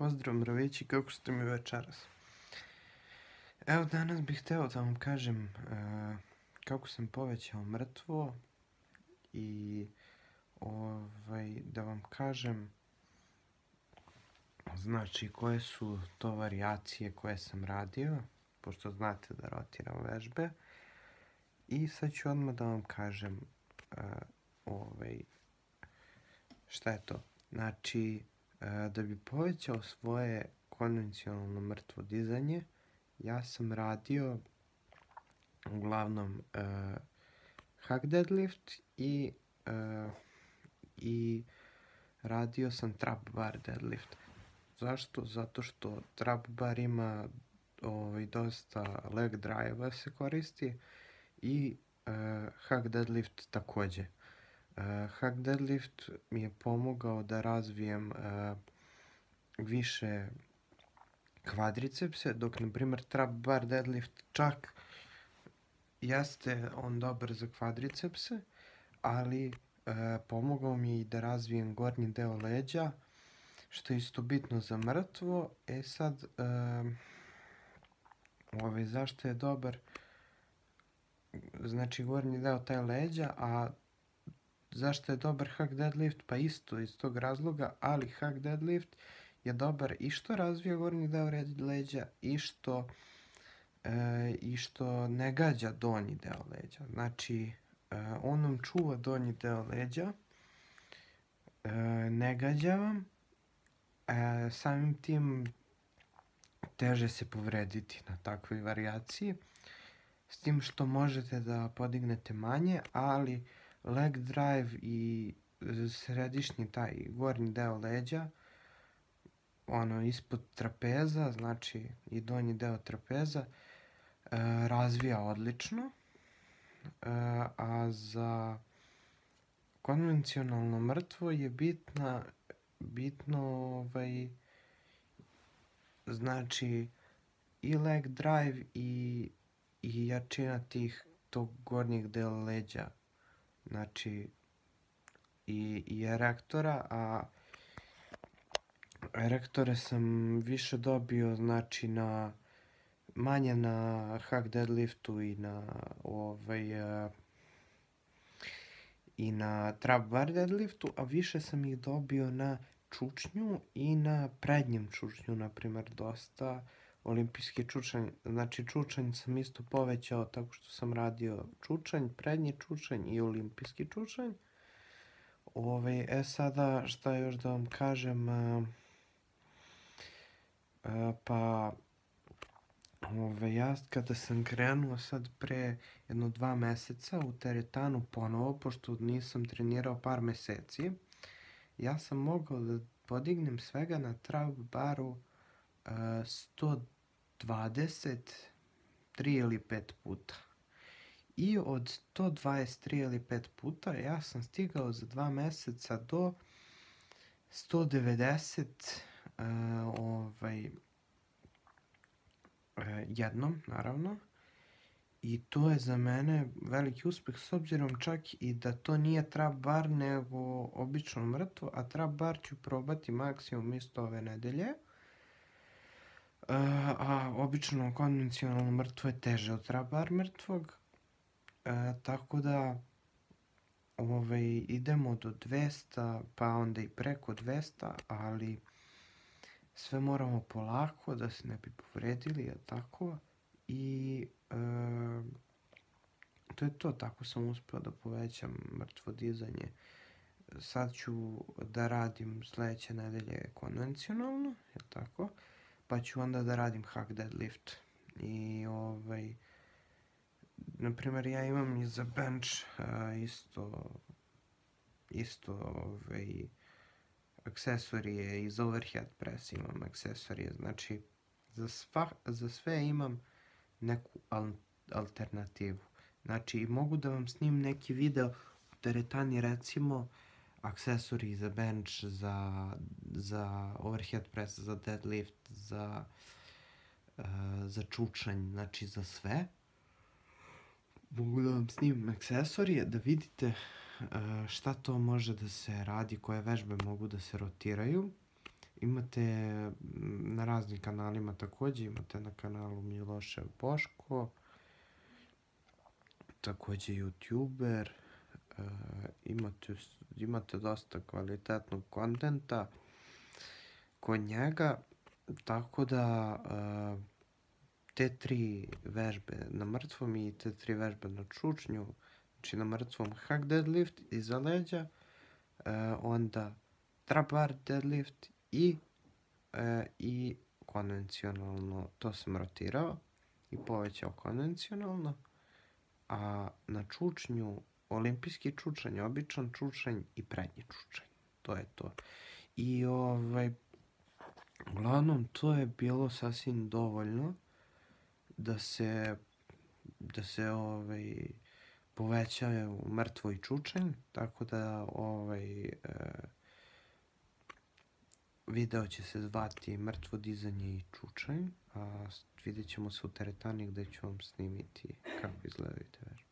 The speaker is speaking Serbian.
Pozdrav mravići, kako ste mi večeras? Evo, danas bih hteo da vam kažem kako sam povećao mrtvo i da vam kažem znači koje su to varijacije koje sam radio, pošto znate da rotiram vežbe. I sad ću odmah da vam kažem šta je to. Znači, da bi povećao svoje konvencionalno mrtvo dizanje, ja sam radio uglavnom hack deadlift i radio sam trap bar deadlift. Zašto? Zato što trap bar ima dosta leg drive-a se koristi i hack deadlift takođe. Hack deadlift mi je pomogao da razvijem više kvadricepse, dok na primjer trap bar deadlift čak jeste on dobar za kvadricepse, ali pomogao mi je i da razvijem gornji deo leđa, što je isto bitno za mrtvo. Sad, zašto je dobar, znači gornji deo taj leđa, a zašto je dobar hack deadlift? Pa isto iz tog razloga, ali hack deadlift je dobar i što razvija gornji deo leđa i što ne gađa donji deo leđa. Znači, on nam čuva donji deo leđa, ne gađa vam, samim tim teže se povrediti na takvoj varijaciji, s tim što možete da podignete manje, ali leg drive i središnji taj gornji deo leđa, ispod trapeza, znači i donji deo trapeza, razvija odlično, a za konvencionalno mrtvo je bitno znači i leg drive i jačina tog gornjeg dela leđa, znači i erektora, a erektore sam više dobio znači manje na hack deadliftu i na trap bar deadliftu, a više sam ih dobio na čučnju i na prednjem čučnju, na primjer dosta olimpijski čučanj. Znači čučanj sam isto povećao tako što sam radio čučanj, prednji čučanj i olimpijski čučanj. Sada šta još da vam kažem, pa ja kada sam krenuo sad pre jedno 2 meseca u teretanu ponovo, pošto nisam trenirao par meseci, ja sam mogao da podignem svega na trap baru 123 ili 5 puta. I od 123 ili 5 puta ja sam stigao za 2 meseca do 190 jednom, naravno. I to je za mene veliki uspeh, s obzirom čak i da to nije trap bar, nego obično mrtvo, a trap bar ću probati maksimum isto ove nedelje. A obično konvencionalno mrtvo je teže od trap bar mrtvog. Tako da idemo do 200, pa onda i preko 200, ali sve moramo polako da se ne bi povredili, je tako? I to je to, tako sam uspeo da povećam mrtvo dizanje. Sad ću da radim sledeće nedelje konvencionalno, je tako? Pa ću onda da radim hack deadlift. I na primjer, ja imam i za bench isto aksesorije, i za overhead press imam aksesorije. Znači, za sve imam neku alternativu. Znači, mogu da vam snimim neki video u teretani, recimo, aksesoriji za bench, za overhead press, za deadlift, za čučanj, znači za sve. Mogu da vam snimim aksesorije, da vidite šta to može da se radi, koje vežbe mogu da se rotiraju Imate na raznim kanalima također, imate na kanalu Milošev Boško, također youtuber, imate dosta kvalitetnog kontenta kod njega, tako da te 3 vežbe na mrtvom i te 3 vežbe na čučnju, znači na mrtvom hack deadlift iza leđa, onda trap bar deadlift i konvencionalno, to sam rotirao i povećao konvencionalno, a na čučnju olimpijski čučanj, običan čučanj i prednji čučanj. To je to. I uglavnom to je bilo sasvim dovoljno da se povećaju mrtvo i čučanj, tako da video će se zvati mrtvo dizanje i čučanj, a vidjet ćemo se u teretani gdje ću vam snimiti kako izgledaju te vežbe.